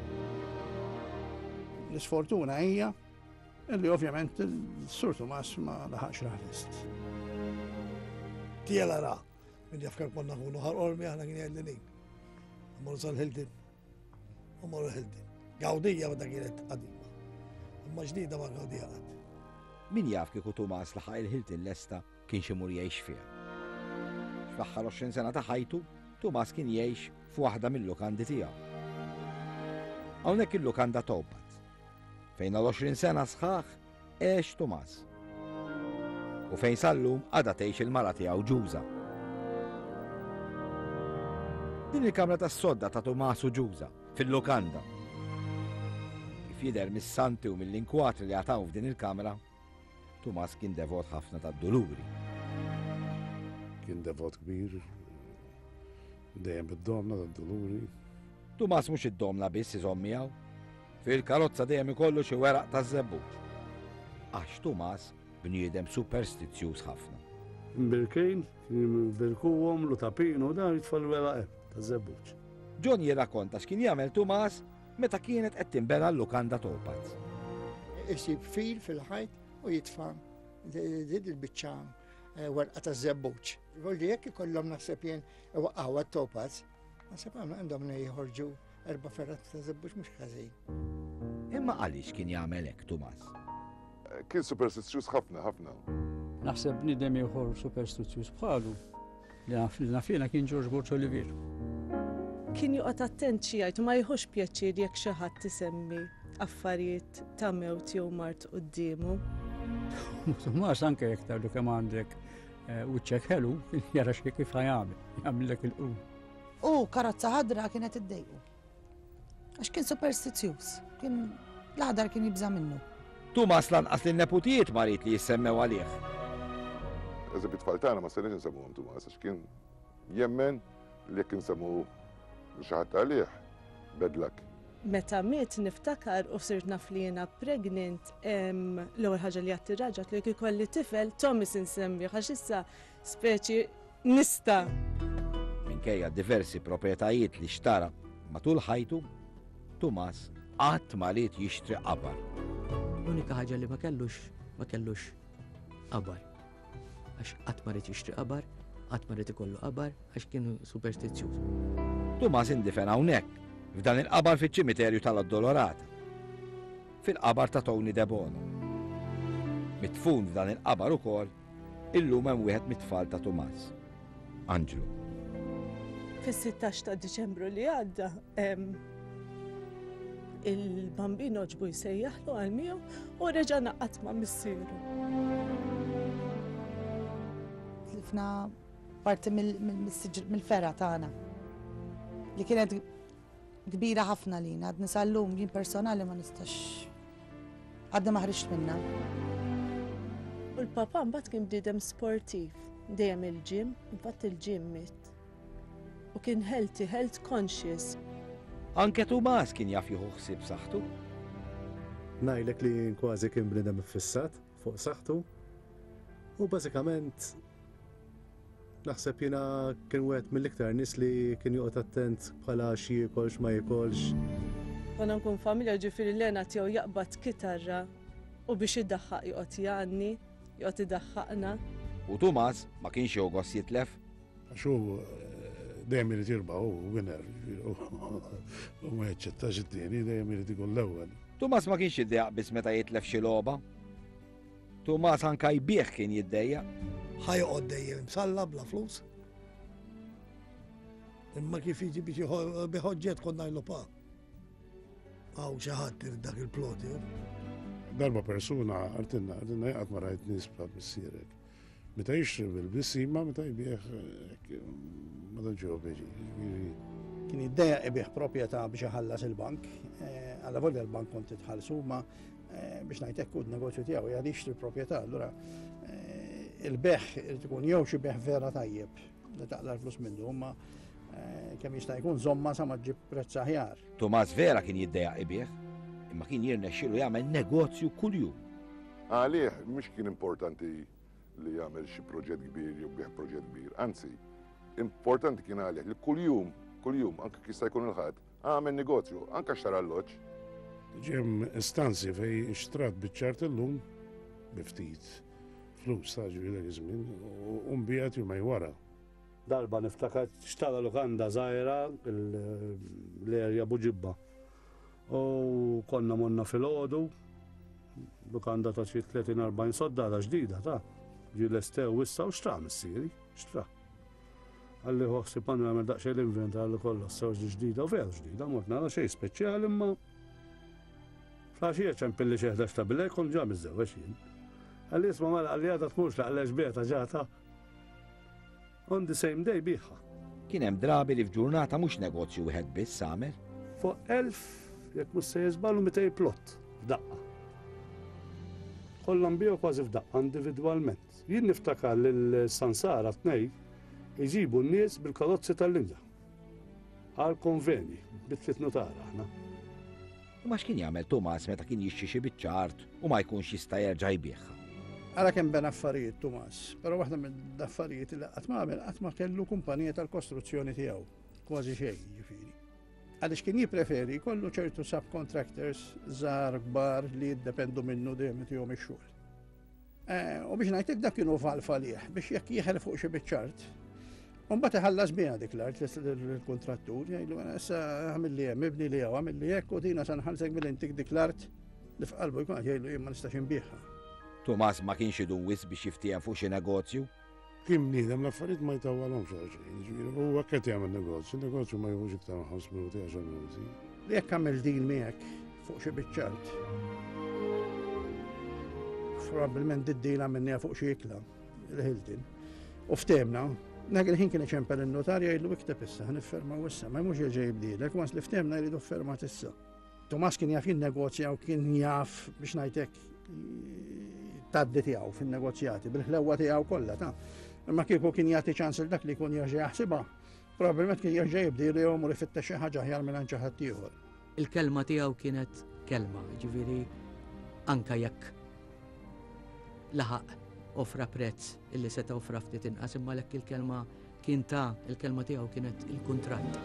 S5: L-isfortuna hija Illi ovvjament il-Sur Tumas ma laħaqx raħ lest.
S9: Tiela ra, min jaf kemm konna nkunu ħarqormi aħna kien jgħidli nin. Mmorru sal-Hilton. Mmorru Hilton. Gawdija meta kienet qadima. Imma ġdida ma gawdija qatt.
S1: Min jaf kieku Tumas laħaq il-Hilton lesta kienx imur jgħix fiha. Fl-aħħar 20 sena ta' ħajtu, Tumas kien jgħix f'waħda mil-lukandi tiegħu. Hawnhekk il-lukanda Towpath, fejn għal 20 sena sħaħ għex Tumas. U fejn sal-lum għadha tgħix il-mara tiegħu Ġuża. Din il-kamra tas-sodda ta' Tumas u Ġuża fil-lukanda. Kif jidher mis-santi u mill-inkwatri li għataw f'din il-kamra, Tumas kien devot ħafna tad-Duluri.
S3: Kien devot kbir, dejjem bid-domna tad-Duluri.
S1: Tumas mhux id-domna biss iżomm miegħu. Fil-karozza dejjem ikollu xi weraq taż-żebbuġ. Għax Tumas bniedem superstizzjuż ħafna.
S14: Imbirkin, kien imbirkuhom, l-utapin u dan jitfa' l-weraq hemm taż-żebbuġ.
S1: John jirrakkonta x'kien jagħmel Tumas meta kienet qed tinbena l-lukanda Topaz.
S10: Isib fil fil-ħajt u jitfa' din il-biċċa eh, werqa ta' żebbuġ. Volli jekk ikollhom naħseb jien iwaqqgħu għat-Topaz, naħseb għandhom jħorġu erba' ferrat ta' żebbuġ mhux ħażin.
S1: Imma għaliex kien jagħmel hekk Tumas?
S7: Kien superstizzjuż ħafna, ħafna.
S2: Naħseb bniedem ieħor superstizzjuż bħalu li naf li naf jiena kien George Borg Olivier.
S8: Kien joqgħod attent xi jgħid u ma jieħux pjaċir jekk xi ħadd isemmi affarijiet ta' mewt jew mard quddiemu.
S2: Tumas anke jekk tgħidlu kemm għandek eh, wiċċek ħelu, jara xi kif ħajamel, jagħmillek il-qrun.
S13: U karozza ħadra kienet iddejqu. Għax kien superstizzjuż, kien l-aħdar kien jibża' minnu.
S1: Tumas lanqas lin-neputijiet ma ried li jissemmew għalih.
S7: Eżempju t-tfal tagħna ma stajniex insemmuhom Tumas għax kien jemmen li jekk insemmu xi ħadd għalih, bad luck.
S8: Meta miet niftakar u sirt naf li jiena pregnant, l-ewwel ħaġa li għedt ir-raġel għedtlu jekk ikolli tifel Thomas insemmih għax issa Speċi nista'.
S1: Minkejja diversi proprjetajiet li xtara matul ħajtu, Tumas qatt ma ried jixtri qabar.
S17: L-unika ħaġa li ma kellux, ma kellux qabar. Għax qatt ma ried jixtri qabar, qatt ma ried ikollu qabar, għax kien superstizzjuż.
S1: Tumas indifen hawnhekk, f'dan il-qabar fiċ-ċimiterju tal-Addolorata. fil-qabar ta' Tony Debono. Midfun f'dan il-qabar ukoll illum hemm wieħed mit-tfal ta' Tumas, Anġlu.
S8: Fis-16 ta' Diċembru li għadda, il-bambin oġbu jsejjaħlu għal miegħu u reġa' naqat ma' missieru.
S13: Tlifna parti mill-fergħa tagħna li kienet kbira ħafna lina, għadni sal-lum jien personali ma nistax għadni ma ħriġt minna.
S8: U l-papa mbagħad kien bniedem sportiv, dejjem il-ġim, infatti il-ġim miet. U kien healthy, health conscious.
S1: Anke Tumas kien jaf jieħu ħsieb saħħtu.
S18: Ngħidlek li jien kważi kien bniedem iffissat fuq saħħtu u bażikament Naħseb jiena kien wieħed mill-iktar nies li kien joqgħod attent bħala x'jiekol x'ma jikolx.
S8: Konna nkun familja ġifieri Lena tiegħu jaqbad kitarra u biex idaħħaq joqgħod jgħanni, joqgħod idaħħaqna.
S1: U Tumas ma kienx jieħu gost jitlef.
S3: Għax hu eh, dejjem irid jirbaħ, hu winner, u ma jaċċettax it-tieni, dejjem irid ikun l-ewwel.
S1: Tumas ma kienx jiddejjaq biss meta jitlef xi logħba. Tumas anka jbigħ kien jiddejjaq.
S9: Ħa joqgħod dejjem imsalla bla flus. Imma kif jiġi biex biħoġġet konna ngħidlu pa. Hawn xi ħadd irid dak il-plot jew.
S3: Darba persuna għartinna, għartinna jaqgħad ma rajt nies bħal missierek. Meta jixtri bil-bisima, meta jbieħ ma tantx jieħu pjaċir.
S5: Kien jiddejjaq ibigħ proprjetà biex iħallas il-bank, eh, alla volja l-bank kont titħallsu, ma eh, biex ngħid hekk negozju tiegħu jgħad jixtri proprjetà, allura eh, il-beħ irid ikun jew xi beħ vera tajjeb li taqla l-flus minnu, imma kemm jista' jkun żomma sa ma ġib prezz aħjar.
S1: Tomas vera kien jiddejjaq ibigħ, imma kien jirnexxielu jagħmel negozju kuljum.
S7: Għalih mhux kien importanti li jagħmel xi proġett kbir jew bih proġett kbir, anzi, importanti kien għalih li kuljum, kuljum, anke jista' jkun il-ħadd, għamel negozju, anke xtara alloġġ.
S3: Ġem istanzi fej xtrat biċ-ċart illum bi ftit flus ta' ġifieri dak iż-żmien u nbiegħet jumejn wara.
S14: Darba niftakar xtara lukanda żgħira l-erja Buġibba. U konna morna filgħodu, lukanda ta' xi 30-40 sodda għadha ġdida ta' ġi lestew issa u xtra missieri, xtra. Għalli ħu ħsieb għandu jagħmel daqsxejn l-inventar li kollox sew ġdida u veru ġdida, mort nara xejn speċjali imma fl-għaxija ċempilli xi 11 ta' bilej kont ġa miżżewweġ jien. Għalli isma' mela għalli għadha tmurx laqlex beta ġata. On the same day biegħha.
S1: Kien hemm drabi li f'ġurnata mhux negozju wieħed biss għamel.
S14: Fuq 1000, jekk mhux sejjer żball, u 200 plot f'daqqa. Kollha nbiegħu kważi f'daqqa individwalment. Jien niftakar lil Sansara tnej iġibu n-nies bil-karozzi tal-linja. Għal konvenji, bit-tliet nutara aħna.
S1: Imma x'kien jagħmel Tumas meta kien jixtri xi biċċa art u ma jkunx jista' jerġa' jbigħha?
S5: Ara kemm bena affarijiet Tumas, però waħda mill-affarijiet li qatt ma għamel qatt ma kellu kumpanija tal-kostruzzjoni tiegħu, kważi xejn jiġifieri. Għaliex kien jippreferi jkollu ċertu subcontractors żgħar kbar li jiddependu minnu dejjem itihom ix-xogħol. Eh, u biex ngħidlek dak kienu valf għalih biex jekk jieħel fuq xi biċ-ċart. Mbagħad iħallas biha dik l-art l-kontrattur, jgħidlu issa għamil li hemm, ibni li hawn, għamil li hekk u dina sa nħallsek billi ntik dik l-art li f'qalbu jkun qed jgħidlu jien ma nistax inbiegħha.
S1: Tumas ma kienx idum wisq biex jiftiehem fuq xi negozju.
S3: Kien bniedem l-affarijiet ma jtawwalhomx għal xejn, jiġifieri huwa qed jagħmel negozju, negozju ma jieħux iktar minn 5 minuti, 10 minuti.
S5: Jekk għamel deal miegħek fuq xi biċċa art, probabbilment id-deal għamilniha fuq xi ikla, il-Hilton, u ftehmna, dak il-ħin kien iċempel in-notar jgħidlu ikteb issa, ħa niffermaw issa, ma jmurx jerġa' jibdilek, once li ftehmna jridu ffermat issa. Tomas kien jaf jinnegozja u kien jaf biex ngħidlek taddi tiegħu fin-negozjati bil-ħlewwa tiegħu kollha ta' imma kieku kien jagħti ċans il dak li jkun jerġa' jaħsibha, probabbilment kien jerġa' jibdi li jomur ifittex xi ħaġa aħjar minn xi ħadd ieħor.
S17: Il-kelma tiegħu kienet kelma, ġifieri anka jekk laħaq offra prezz illi seta' offra ftit inqas imma lekk il-kelma Kien ta, il-kelma tiegħu kienet il-kuntratt.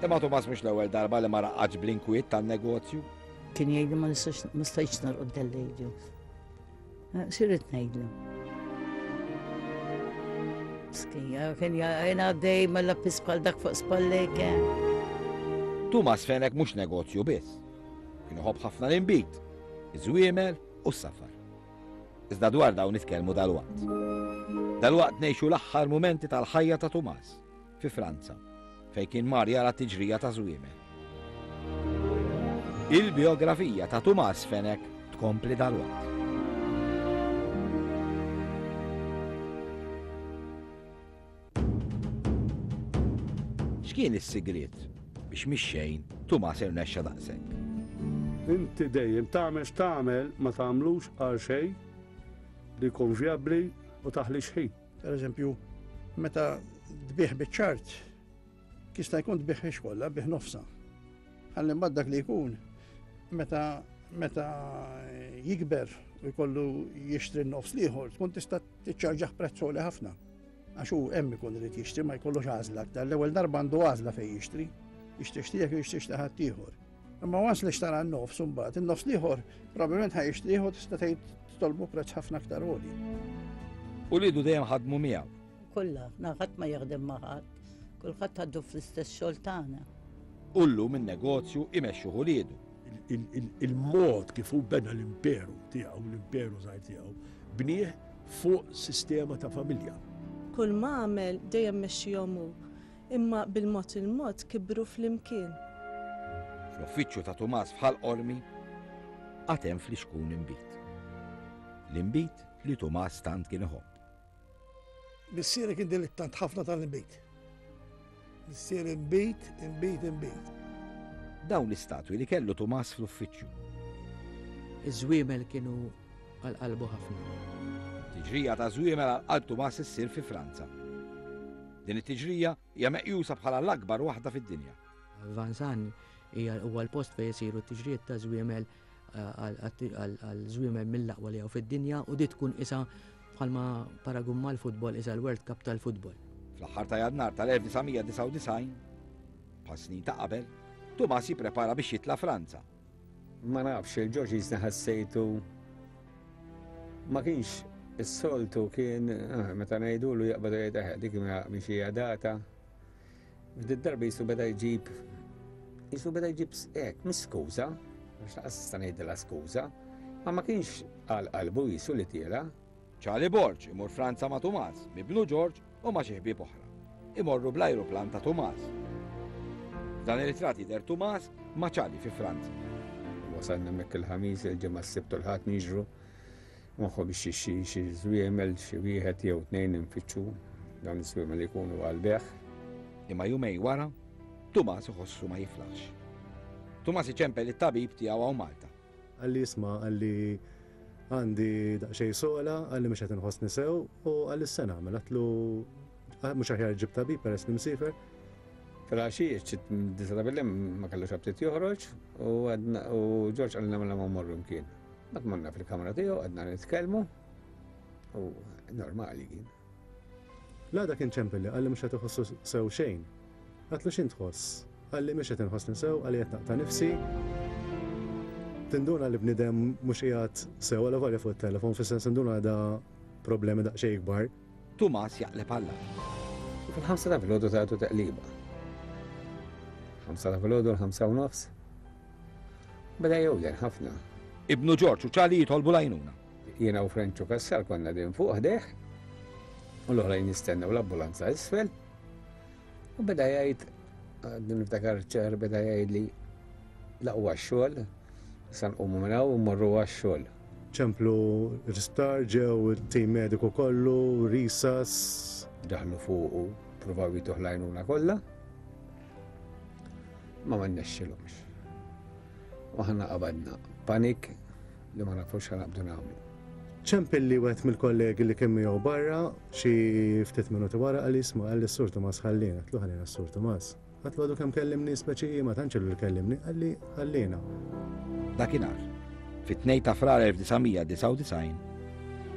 S1: Imma Tumas mhux l-ewwel darba li ma raqadx bl-inkwiet tan-negozju.
S4: Kien jgħidli ma nistax ma stajtx norqod dal-lejl. Eh, X'irrid ngħidlu? Skija, kien jgħin għaddej mela pis bħal dak fuq spallejk. Eh.
S1: Tumas Fenek mhux negozju biss. Kien iħobb ħafna l-inbid. Iż-żwiemel u s-safar. Iżda dwar dawn nitkellmu dalwaqt. Dalwaqt ngħixu l-aħħar mumenti tal-ħajja ta' Tumas fi Franza, fejn kien mar jara tiġrija ta' żwiemel. Il-biografija ta' Tumas Fenech tkompli dalwaqt. X'kien is-sigriet biex mix-xejn Tumas irnexxa daqshekk?
S14: Inti dejjem tagħmel x'tagħmel ma tagħmlux għal xejn li jkun vjabbli u taħlix ħin.
S5: Per eżempju, meta tbigħ biċ-ċart, jista' jkun tbigħhiex kollha, bih nofsha. Ħalli mbagħad dak li jkun meta meta jikber u jkollu jixtri n-nofs l-ieħor, tkun tista' tiċċarġah prezz għoli ħafna. Għax hu hemm ikun irid jixtri ma jkollux għażla aktar. L-ewwel darba għandu għażla fejn jixtri. Jixtrix tiegħek jew jixtrix ta' ħaddieħor. Imma once li xtara n-nofs imbagħad, in-nofs l-ieħor probabbilment ħa jixtrih u tista' tgħid titolbu prezz ħafna aktar għoli.
S1: Uliedu dejjem ħadmu miegħu.
S4: Kollha, aħna ħadd ma jaħdem ma' ħadd, kulħadd għadu fl-istess xogħol tagħna.
S1: U llum in-negozju imexxuh uliedu.
S15: Il-mod kif hu bena l-imperu tiegħu, l-imperu żgħir tiegħu, bnieh fuq sistema ta' familja.
S8: Kull ma għamel dejjem mexxihom hu, imma bil-mod il-mod kibru flimkien.
S1: Fl-uffiċċju ta' Tumas f'Ħal Qormi għad hemm flixkun inbid. L-inbid li Tumas tant kien iħobb.
S9: Missieri kien dilittant ħafna tal-inbid. Missieri inbid, inbid, inbid.
S1: Dawn l-istatwi li kellu Tumas fl-uffiċċju.
S17: Iż-żwiemel kienu għal qalbu ħafna.
S1: Tiġrija ta' żwiemel għal qalb Tumas issir fi Franza. Din it-tiġrija hija meqjusa bħala l-akbar waħda fid-dinja.
S17: Vansan hija huwa l-post fejn isiru t-tiġrijiet ta' żwiemel għal żwiemel mill-aqwa li hawn fid-dinja u di tkun isa bħalma paragun mal-futbol isa l-World Cup tal-futbol.
S1: Fl-aħħar ta' Jannar tal-1999, bħal snin ta' qabel, Tumas jipprepara biex jitla' Franza.
S6: Ma nafx, il-Ġorġ jisni ħassejtu ma kienx is-soltu kien ah, meta ngħidulu jaqbad jgħid eh, dik mhix hija data. F'did darba jisu beda jġib jisu beda jġib hekk, mhix skuża, għax laqas nista' ngħidilha skuża, ma ma kienx għal qalbu jisu li tiela.
S1: Charlie Borg imur Franza ma' Tumas, m'ibnu George u ma' xi ħbieb oħra. Imorru bl-ajruplan ta' Tumas. F'dan ir-ritratt jidher Tumas ma' Charlie fi Franza.
S6: Wasalna hemmhekk il-Ħamis, il-Ġimgħa, s-Sibt u l-Ħadd niġru moħħu biex xi xi żwiemel xi wieħed jew tnejn infittxu dawn iż-żwiemel li jkunu għall-bejgħ.
S1: Imma jumejn wara, Tumas iħossu ma jiflaħx. Tumas iċempel lit-tabib tiegħu hawn Malta.
S18: Qalli isma' qalli għandi daqsxejn sola, qalli mhux qed inħossni sew u qalli x'se nagħmel. Għedtlu mhux aħjar ġib tabib peress li msiefer.
S6: Filgħaxija xi disa' ta' bil-lejl ma kellux aptit joħroġ u għedna u Ġorġ qalilna mela ma mmorru mkien. Mbagħad morna fil-kamra tiegħu qgħadna nitkellmu u normali kien.
S18: L-għada kien ċempilli qalli mhux qed iħossu sew xejn. Għedtlu x'int tħoss? Qalli mhux qed inħossni sew, qalli qed naqta' nifsi. Tinduna li bniedem mhux qiegħed sew alavolja fuq it-telefon, fis-sens tinduna li da problemi daqsxejn ikbar.
S1: Tumas jaqleb għall-agħar.
S6: U fil-ħamsa ta' filgħodu tagħtu teqliba. Ħamsa ta' filgħodu l-ħamsa u nofs. Beda jewden ħafna.
S1: Ibnu Ġorġ u Charlie jitolbu l-għajnuna.
S6: Jiena u Frenċu Cassar konna din fuq ħdejh u l-oħrajn jistennew l-ambulanza isfel. U beda jgħid, għadni niftakar ċar, beda jgħid li laqwa x-xogħol, sa nqumu minn hawn u mmorru għax-xogħol.
S18: Ċemplu l-isptar, ġew it-tim mediku kollu, risas.
S6: Daħlu fuqu, provaw jituh l-għajnuna kollha. Ma ma nnexxilhomx. U aħna qabadna panik li ma nafux x'ħa naqbdu nagħmlu.
S18: Ċempilli wieħed mill-kollegi li kien miegħu barra xi ftit minuti wara qalli isma' qalli s-Sur Tumas ħalliena. Għedtlu ħalliena s-Sur Tumas. Għedtlu għadu kemm kellimni speċi ma tantx ilu li kellimni, qalli ħalliena.
S1: Dakinhar, fit-2 ta' Frar 1999,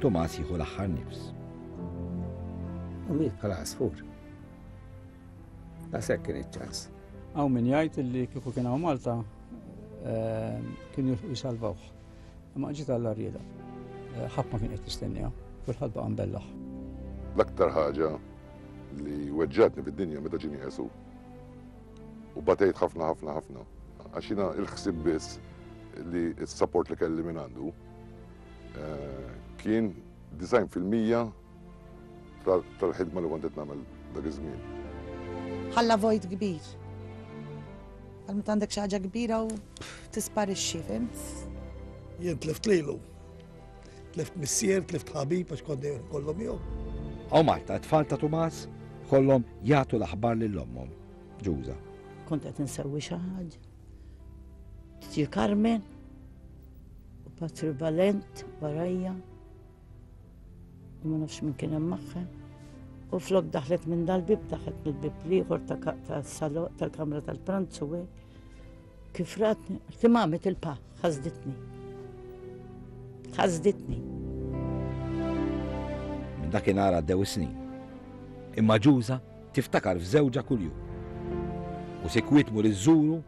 S1: Tumas jieħu l-aħħar nifs.
S6: U miet bħala għasfur. Daqshekk kien iċ-ċans.
S2: Hawn min jgħid li kieku kien hawn Malta eh, kienu jisalvawh. Imma ġiet Alla rieda. Eh, ħadd ma kien qed jistenniha, kulħadd baqa' mbellaħ.
S7: L-aktar ħaġa li weġġatni fid-dinja meta ġie nieqes hu. U batejt ħafna ħafna ħafna. Għax jiena il-ħsieb biss. li s-support li kelli minn għandu kien 90% tal-ħidma li kont qed nagħmel dak iż-żmien.
S13: Ħalla vojt kbir. Għal meta għandek xi ħaġa kbira u tisparixxi, fhimt?
S9: Jien tlift lilu. Tlift missier, tlift ħabib għax kont dejjem kollu miegħu.
S1: Hawn Malta t-tfal ta' Tumas kollhom jagħtu l-aħbar lil ommhom, Ġuża.
S4: Kont qed insewwi xi ħaġa. Tiġi Carmen u Patri Valent warajja u ma nafx min kien hemm magħha. U flok daħlet minn dal-bib, daħlet mill-bib l-ieħor tal-kamra tal-pranzu hekk. Kif ratni, qaltli mami tilpa, ħasditni. Ħasditni.
S1: Minn dakinhar għaddew is-snin. Imma Ġuża tiftakar f'żewġha kuljum. U sikwit mur iżżuru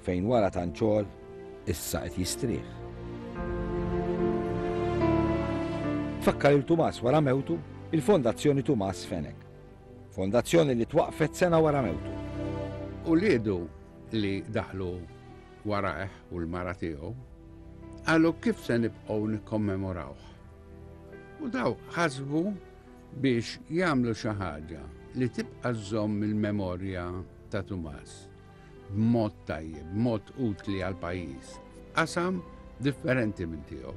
S1: fejn wara tant xogħol issa qed jistrieħ. Tfakkar il Tumas wara mewtu il-Fondazzjoni Tumas Fenech. Fondazzjoni li twaqqfet sena wara mewtu.
S19: Uliedu li daħlu warajh u l-mara tiegħu qalu kif se nibqgħu nikkommemorawh. U daw ħasbu biex jagħmlu xi ħaġa li tibqa' żżomm il-memorja ta' Tumas b'mod tajjeb, b'mod utli għall-pajjiż, f'qasam differenti minn tiegħu.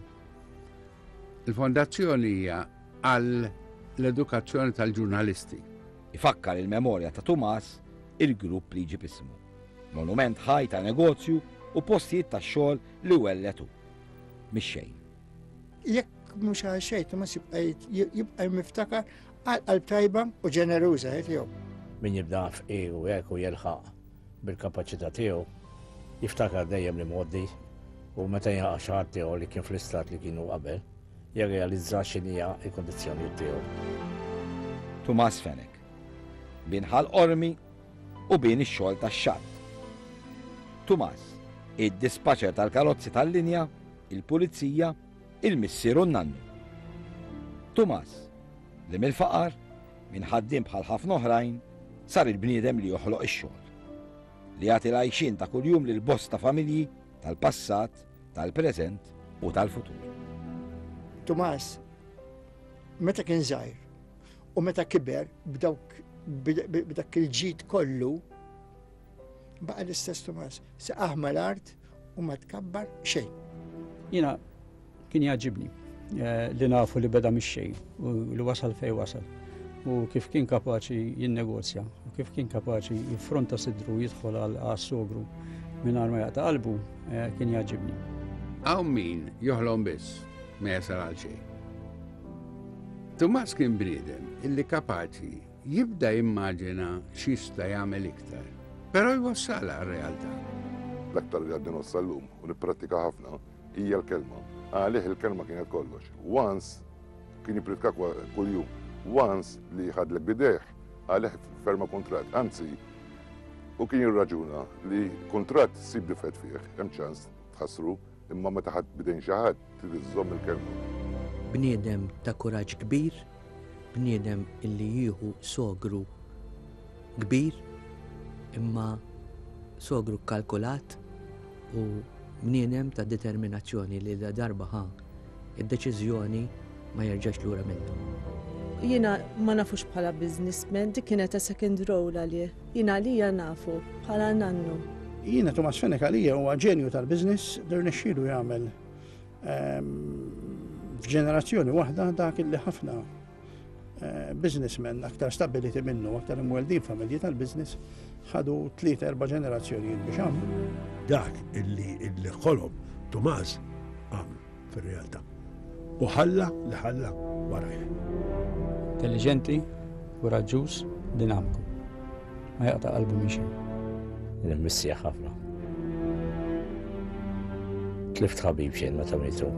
S19: Il-fondazzjoni hija għal l-edukazzjoni tal-ġurnalisti.
S1: Ifakkar il-memorja ta' Tumas il-grupp li jġib ismu. Monument ħaj ta' negozju u postijiet ta' xogħol li welled hu. Mix-xejn.
S10: Jekk mhux għal xejn Tumas jibqa' jibqa' miftakar għal qalb tajba u ġeneruża eh, tiegħu.
S16: Min jibda fqir u hekk u jilħaq bil-kapaċità tiegħu, jiftakar dejjem l-imgħoddi u meta jilħaq xi ħadd tiegħu li kien fl-istat li kienu qabel, jirrealizza x'inhija l-kundizzjonijiet tiegħu.
S1: Tumas Fenech. Bin Ħal Qormi u bin ix-xogħol tax-xatt. Tumas, id-dispaċer tal-karozzi tal-linja, il-pulizija, il-missier u n-nannu. Tumas, li mill-faqar, minn ħaddiem bħal ħafna oħrajn, sar il-bniedem li joħloq ix-xogħol. Li jagħti l-għajxien ta' kuljum lil bosta familji tal-passat, tal-preżent u tal-futur.
S10: Tumas, meta kien żgħir u meta kiber b'dawk b'dak il-ġid kollu, baqa' l-istess Tumas, saqah mal-art u ma tkabbar xejn.
S2: Jiena kien jagħġibni eh, li nafu li beda mix-xejn u li wasal fejn wasal u kif kien kapaċi jinnegozja u kif kien kapaċi jiffronta sidru jidħol għal sogru mingħajr ma jaqta' qalbu eh, kien jagħġibni.
S19: Hawn min joħlom biss ma jasal għal xejn. Tumas kien bniedem illi kapaċi jibda jimmaġina x'jista' jagħmel iktar, però jwassalha għar-realtà.
S7: L-aktar li għadni ngħożż sal-lum u nipprattika ħafna hija l-kelma. Għalih il-kelma kienet kollox. Once kien jippritka kuljum. Once li ħadlek b'idejh, għalih ferma kuntratt. Anzi, hu kien jirraġuna li kuntratt ssib difett fih, hemm ċans tħassru, imma meta ħadt b'idejn xi ħadd trid iżżomm il-kelma.
S17: Bniedem ta' kuraġġ kbir, bniedem illi jieħu sogru kbir imma sogru kkalkulat u bniedem ta' determinazzjoni li la darba ħa id-deċiżjoni ma jerġax lura minnha.
S8: Jiena ma nafux bħala businessman, dik kienet a second role għalih. Jiena għalija nafu bħala nannu.
S5: Jiena Tumas Fenech għalija huwa ġenju tal-business li rnexxielu jagħmel F'ġenerazzjoni waħda dak illi ħafna eh, businessmen aktar stabiliti minnu, aktar imweldin familji tal-business, ħadu tliet erba' ġenerazzjonijiet biex għamlu.
S15: Dak illi illi ħolom Tumas għamlu fir-realtà. U ħalla li ħalla warajh.
S2: Intelligenti, kuraġġuż, dinamiku. Ma jaqta' qalbu minn xejn.
S16: Nimmissija ħafna. Tlift ħabib xejn meta mietu.